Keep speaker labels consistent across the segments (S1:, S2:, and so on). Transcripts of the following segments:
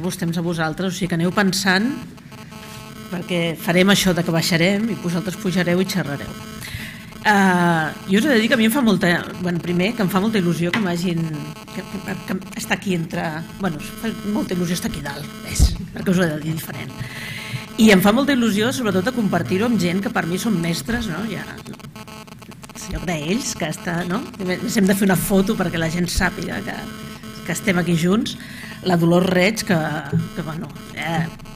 S1: dedicar-vos temps a vosaltres, o sigui que aneu pensant, perquè farem això de que baixarem i vosaltres pujareu i xerrareu. Jo us he de dir que a mi em fa molta... primer, que em fa molta il·lusió que m'hagin... que està aquí entre... em fa molta il·lusió estar aquí dalt, perquè us ho he de dir diferent. I em fa molta il·lusió, sobretot, de compartir-ho amb gent que per mi són mestres, no? Ja... el lloc d'ells, que està... Hem de fer una foto perquè la gent sàpiga que estem aquí junts. La Dolors Reig, que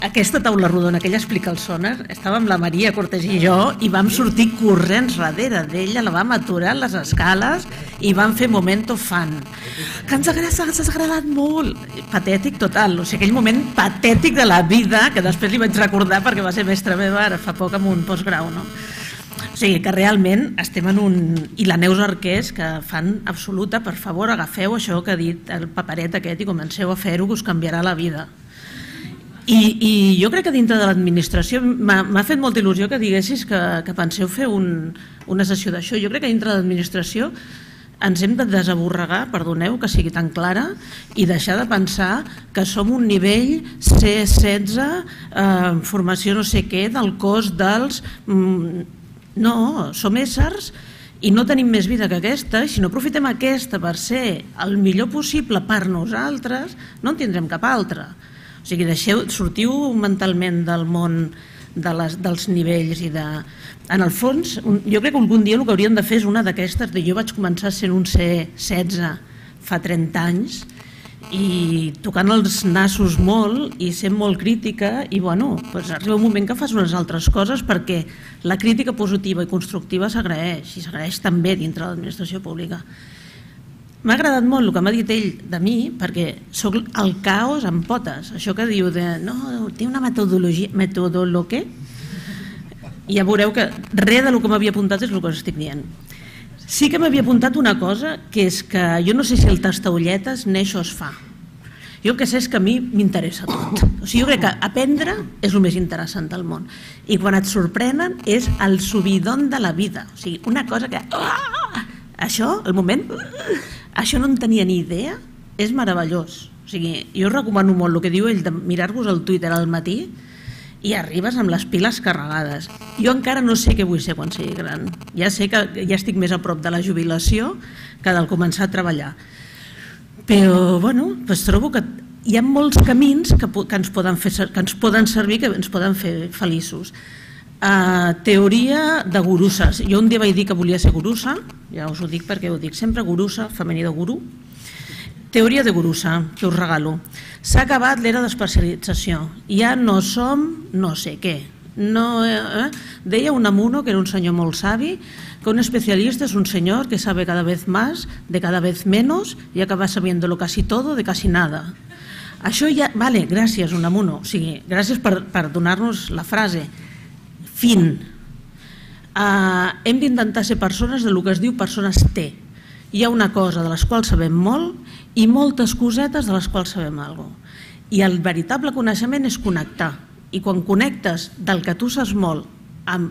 S1: aquesta taula rodona que ella explica el sonar, estava amb la Maria Cortés i jo i vam sortir corrents darrere d'ella, la vam aturar a les escales i vam fer momento fan. Que ens ha agradat molt. Patètic total, o sigui, aquell moment patètic de la vida, que després li vaig recordar perquè va ser mestra meva ara fa poc amb un postgrau, no? O sigui, que realment estem en un... I la Neus Arqués, que fan absoluta, per favor, agafeu això que ha dit el paperet aquest i comenceu a fer-ho, que us canviarà la vida. I jo crec que dintre de l'administració m'ha fet molta il·lusió que diguessis que penseu fer una sessió d'això. Jo crec que dintre de l'administració ens hem de desaborregar, perdoneu que sigui tan clara, i deixar de pensar que som un nivell C16, formació no sé què, del cos dels... No, som éssers i no tenim més vida que aquesta, i si no aprofitem aquesta per ser el millor possible per nosaltres, no en tindrem cap altra. O sigui, sortiu mentalment del món dels nivells i de... En el fons, jo crec que algun dia el que hauríem de fer és una d'aquestes, jo vaig començar sent un C16 fa 30 anys, i tocant els nassos molt i sent molt crítica, i arriba un moment que fas unes altres coses perquè la crítica positiva i constructiva s'agraeix, i s'agraeix també dintre de l'administració pública. M'ha agradat molt el que m'ha dit ell de mi, perquè soc el caos en potes, això que diu de no, té una metodologia, què? I ja veureu que res del que m'havia apuntat és el que us estic dient. Sí que m'havia apuntat una cosa, que és que jo no sé si el tastaolletes neix o es fa. Jo el que sé és que a mi m'interessa tot. O sigui, jo crec que aprendre és el més interessant del món. I quan et sorprenen és el subidon de la vida. O sigui, una cosa que... Això, el moment... Això no en tenia ni idea, és meravellós. O sigui, jo recomano molt el que diu ell de mirar-vos el Twitter al matí i arribes amb les piles carregades. Jo encara no sé què vull ser quan sigui gran. Ja sé que ja estic més a prop de la jubilació que del començar a treballar. Però, trobo que hi ha molts camins que ens poden servir, que ens poden fer feliços. Teoria de gurusses. Jo un dia vaig dir que volia ser gurussa, ja us ho dic perquè ho dic sempre, gurussa, femení de guru. Teoria de gurussa, que us regalo. S'ha acabat l'era d'especialització. Ja no som no sé què. Deia Unamuno, que era un senyor molt savi, que un especialista es un señor que sabe cada vez más, de cada vez menos, y acaba sabiéndolo casi todo, de casi nada. Això ja... Vale, gràcies, Unamuno. O sigui, gràcies per donar-nos la frase. Fin. Hem d'intentar ser persones del que es diu persones T. Hi ha una cosa de les quals sabem molt i moltes cosetes de les quals sabem alguna cosa. I el veritable coneixement és connectar. I quan connectes del que tu saps molt amb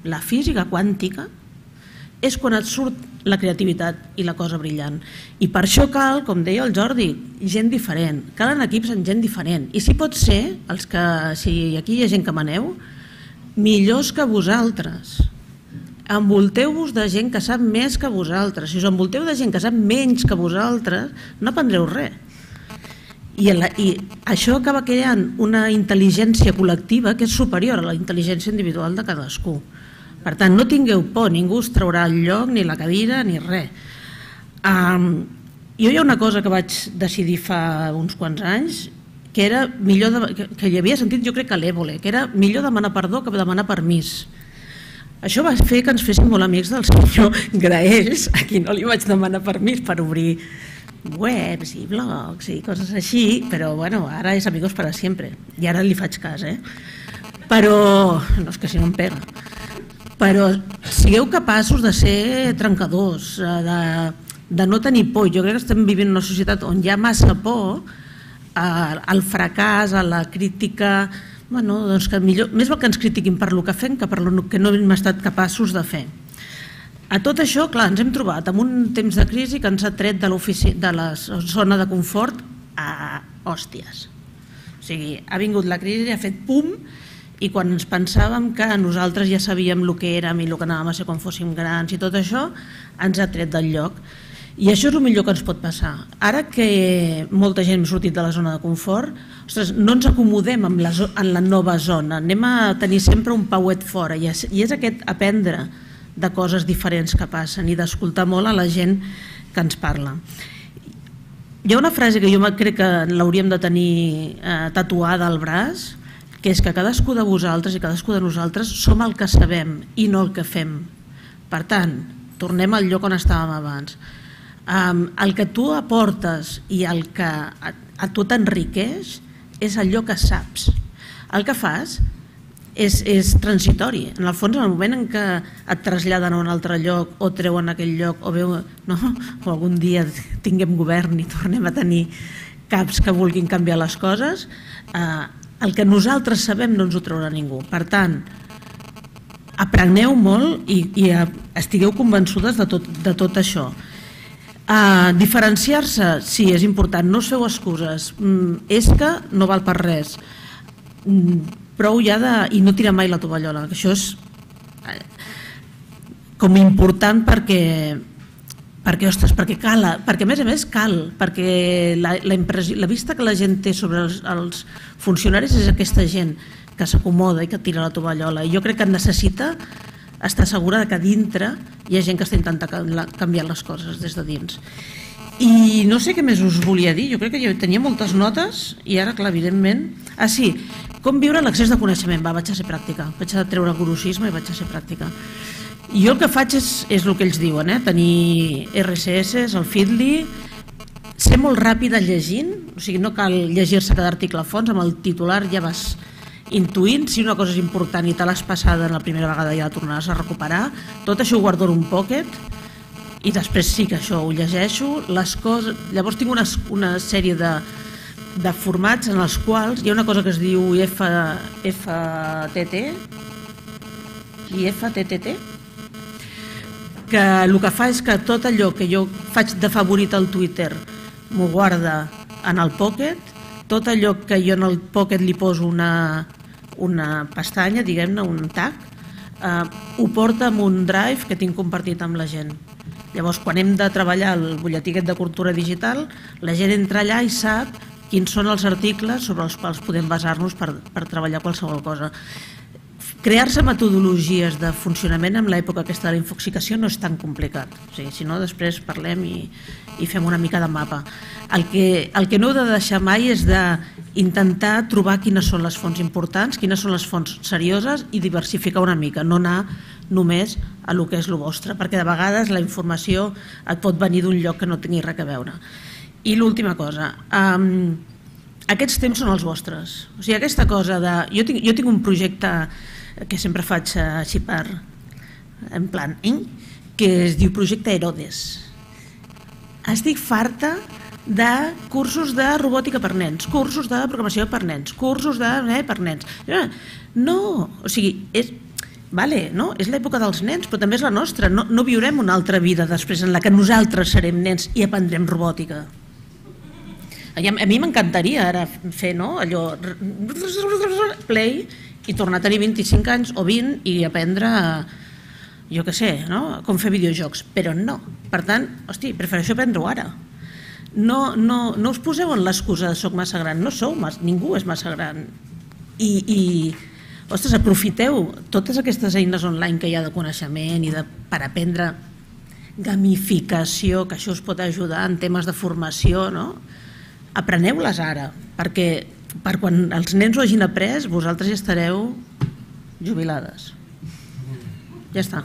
S1: la física quàntica és quan et surt la creativitat i la cosa brillant. I per això cal, com deia el Jordi, gent diferent. Calen equips amb gent diferent. I si pot ser, si aquí hi ha gent que maneu, millors que vosaltres. Envolteu-vos de gent que sap més que vosaltres. Si us envolteu de gent que sap menys que vosaltres, no aprendreu res. I això acaba creant una intel·ligència col·lectiva que és superior a la intel·ligència individual de cadascú. Per tant, no tingueu por, ningú us traurà el lloc, ni la cadira, ni res. Jo hi ha una cosa que vaig decidir fa uns quants anys, que era millor, que hi havia sentit jo crec que a l'Évole, que era millor demanar perdó que demanar permís. Això va fer que ens féssim molt amics del senyor Graells, a qui no li vaig demanar permís per obrir webs i blogs i coses així, però ara és amigos para siempre, i ara li faig cas, però, no és que si no em pega, però sigueu capaços de ser trencadors, de no tenir por. Jo crec que estem vivint una societat on hi ha massa por al fracàs, a la crítica, que més val que ens critiquin per el que fem que per el que no hem estat capaços de fer. A tot això, clar, ens hem trobat en un temps de crisi que ens ha tret de la zona de confort a hòsties. sigui, ha vingut la crisi, ha fet pum, i quan ens pensàvem que nosaltres ja sabíem el que érem i el que anàvem a ser quan fóssim grans i tot això, ens ha tret del lloc. I això és el millor que ens pot passar. Ara que molta gent ha sortit de la zona de confort, ostres, no ens acomodem en la nova zona, anem a tenir sempre un pauet fora, i és aquest aprendre de coses diferents que passen i d'escoltar molt a la gent que ens parla. Hi ha una frase que jo crec que l'hauríem de tenir tatuada al braç, que és que cadascú de vosaltres i cadascú de nosaltres som el que sabem i no el que fem. Per tant, tornem al lloc on estàvem abans. El que tu aportes i el que a tu t'enriqueix és allò que saps. El que fas és transitori. En el fons, en el moment en què et traslladen a un altre lloc o treuen aquell lloc o algun dia tinguem govern i tornem a tenir caps que vulguin canviar les coses, el que nosaltres sabem no ens ho traurà ningú. Per tant, apreneu molt i estigueu convençudes de tot això. Diferenciar-se, sí, és important, no us feu excuses, és que no val per res, prou ja i no tirar mai la tovallola, que això és com important perquè cal, perquè a més cal, perquè la vista que la gent té sobre els funcionaris és aquesta gent que s'acomoda i que tira la tovallola, i jo crec que necessita estar segura que a dintre hi ha gent que està intentant canviar les coses des de dins. I no sé què més us volia dir, jo crec que jo tenia moltes notes i ara, clar, evidentment... sí, com viure l'accés de coneixement? Vaig a ser pràctica, vaig a treure el gurusisme i vaig a ser pràctica. Jo el que faig és el que ells diuen, tenir RSS, el Feedly, ser molt ràpida llegint, o sigui, no cal llegir-se cada article a fons, amb el titular ja vas intuint si una cosa és important i te l'has passada la primera vegada i ja la tornaràs a recuperar. Tot això ho guardo en un pocket i després sí que això ho llegeixo. Llavors tinc una sèrie de formats en els quals hi ha una cosa que es diu FTT i FTTT, que el que fa és que tot allò que jo faig de favorit al Twitter m'ho guarda en el Pocket, tot allò que jo en el Pocket li poso una pestanya, diguem-ne, un tag, ho porta en un drive que tinc compartit amb la gent. Llavors, quan hem de treballar el butlletí de cultura digital, la gent entra allà i sap quins són els articles sobre els quals podem basar-nos per treballar qualsevol cosa. Crear-se metodologies de funcionament en l'època aquesta de la infoxicació no és tan complicat. Si no, després parlem i fem una mica de mapa. El que no heu de deixar mai és d'intentar trobar quines són les fonts importants, quines són les fonts serioses i diversificar una mica, no anar només a el que és el vostre, perquè de vegades la informació et pot venir d'un lloc que no tingui res a veure. I l'última cosa, aquests temps són els vostres. O sigui, aquesta cosa de... Jo tinc un projecte que sempre faig així en plan, que es diu Projecte Herodes. Estic farta de cursos de robòtica per nens, cursos de programació per nens, cursos per nens. No, o sigui, és l'època dels nens, però també és la nostra. No viurem una altra vida després en la que nosaltres serem nens i aprendrem robòtica. A mi m'encantaria ara fer allò, play, i tornar a tenir 25 anys o 20 i aprendre, jo què sé, com fer videojocs, però no. Per tant, hosti, prefereixo aprendre-ho ara. No us poseu en l'excusa de soc massa gran, no sou, ningú és massa gran. I, ostres, aprofiteu totes aquestes eines online que hi ha de coneixement i per aprendre gamificació, que això us pot ajudar en temes de formació, no? Apreneu-les ara, perquè per quan els nens ho hagin après, vosaltres ja estareu jubilades. Ja està.